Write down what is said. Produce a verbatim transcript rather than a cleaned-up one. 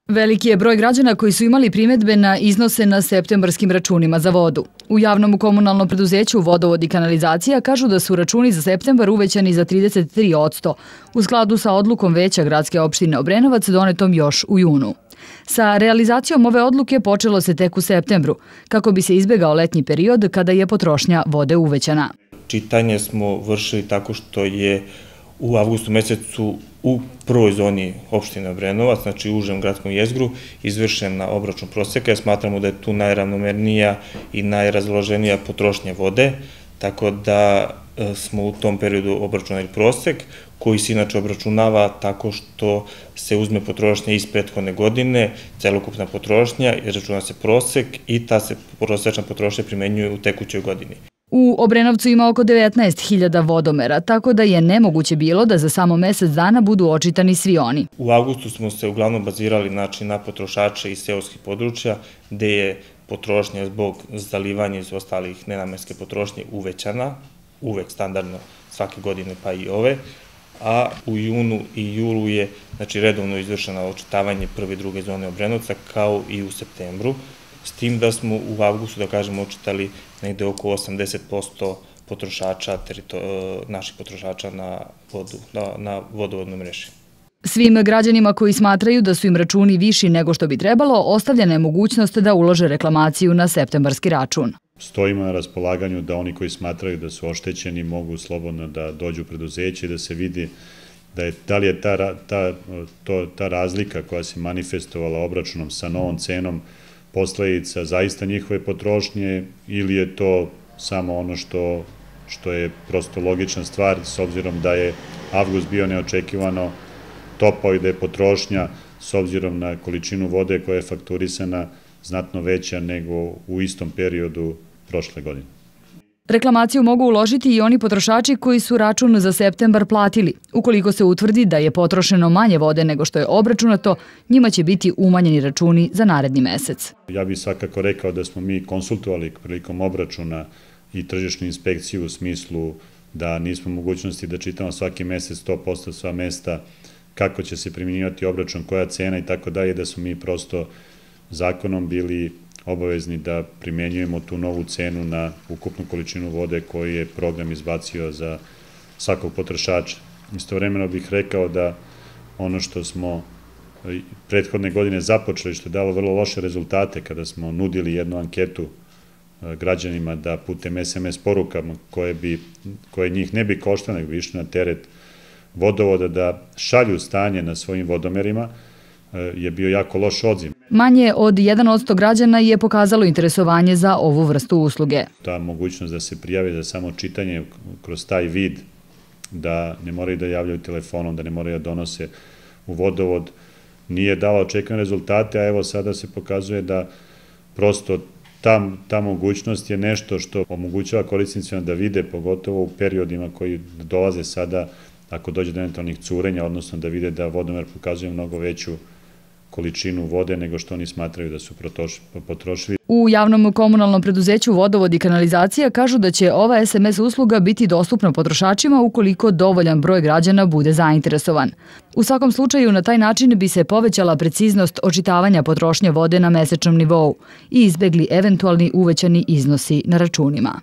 Veliki je broj građana koji su imali primjedbe na iznose na septembarskim računima za vodu. U javnom komunalnom preduzeću Vodovod i kanalizacija kažu da su računi za septembar uvećani za trideset tri posto, u skladu sa odlukom Veća gradske opštine Obrenovac donetom još u junu. Sa realizacijom ove odluke počelo se tek u septembru, kako bi se izbegao letnji period kada je potrošnja vode uvećana. Čitanje smo vršili tako što je u avgustu mesecu u prvoj zoni opštine Obrenovac, znači u užem gradskom jezgru, izvršena obračun proseka. Smatramo da je tu najravnomernija i najrazloženija potrošnja vode, tako da smo u tom periodu obračunali prosek, koji se inače obračunava tako što se uzme potrošnja iz prethodne godine, celokupna potrošnja, računa se prosek i ta se prosečna potrošnja primenjuje u tekućoj godini. U Obrenovcu ima oko devetnaest hiljada vodomera, tako da je nemoguće bilo da za samo mesec dana budu očitani svi oni. U avgustu smo se uglavnom bazirali znači, na potrošače iz seoskih područja, gde je potrošnja zbog zalivanja iz ostalih nenamenske potrošnje uvećana, uvek standardno svake godine pa i ove, a u junu i julu je znači, redovno izvršeno očitavanje prve i druge zone Obrenovca kao i u septembru, s tim da smo u avgustu, da kažemo, očitali negde oko osamdeset posto potrošača, naših potrošača na, vodu, na, na vodovodnoj mreži. Svim građanima koji smatraju da su im računi viši nego što bi trebalo, ostavljena je mogućnost da ulože reklamaciju na septembarski račun. Stojimo na raspolaganju da oni koji smatraju da su oštećeni mogu slobodno da dođu u preduzeće i da se vidi da, je, da li je ta, ta, to, ta razlika koja se manifestovala obračunom sa novom cenom posledica zaista njihove potrošnje ili je to samo ono što, što je prosto logična stvar s obzirom da je avgust bio neočekivano topao i da je potrošnja s obzirom na količinu vode koja je fakturisana znatno veća nego u istom periodu prošle godine. Reklamaciju mogu uložiti i oni potrošači koji su račun za septembar platili. Ukoliko se utvrdi da je potrošeno manje vode nego što je obračunato, njima će biti umanjeni računi za naredni mesec. Ja bih svakako rekao da smo mi konsultovali prilikom obračuna i tržišnu inspekciju u smislu da nismo u mogućnosti da čitamo svaki mesec sto posto sva mesta kako će se primjenjivati obračun, koja cena i tako dalje, da smo mi prosto zakonom bili obavezni da primenjujemo tu novu cenu na ukupnu količinu vode koju je program izbacio za svakog potrošača. Istovremeno bih rekao da ono što smo prethodne godine započeli, što je dalo vrlo loše rezultate kada smo nudili jednu anketu građanima da putem es em es porukama koje, bi, koje njih ne bi koštalo, nego bi išli na teret vodovoda da šalju stanje na svojim vodomerima, je bio jako loš odziv. Manje od jedan posto građana je pokazalo interesovanje za ovu vrstu usluge. Ta mogućnost da se prijave za samo čitanje kroz taj vid, da ne moraju da javljaju telefonom, da ne moraju da donose u vodovod, nije dala očekivane rezultate, a evo sada se pokazuje da prosto ta, ta mogućnost je nešto što omogućava korisnicima da vide, pogotovo u periodima koji dolaze sada, ako dođe do eventualnih curenja, odnosno da vide da vodomer pokazuje mnogo veću količinu vode nego što oni smatraju da su potrošili. U javnom komunalnom preduzeću Vodovod i kanalizacija kažu da će ova es em es usluga biti dostupna potrošačima ukoliko dovoljan broj građana bude zainteresovan. U svakom slučaju, na taj način bi se povećala preciznost očitavanja potrošnje vode na mesečnom nivou i izbegli eventualni uvećani iznosi na računima.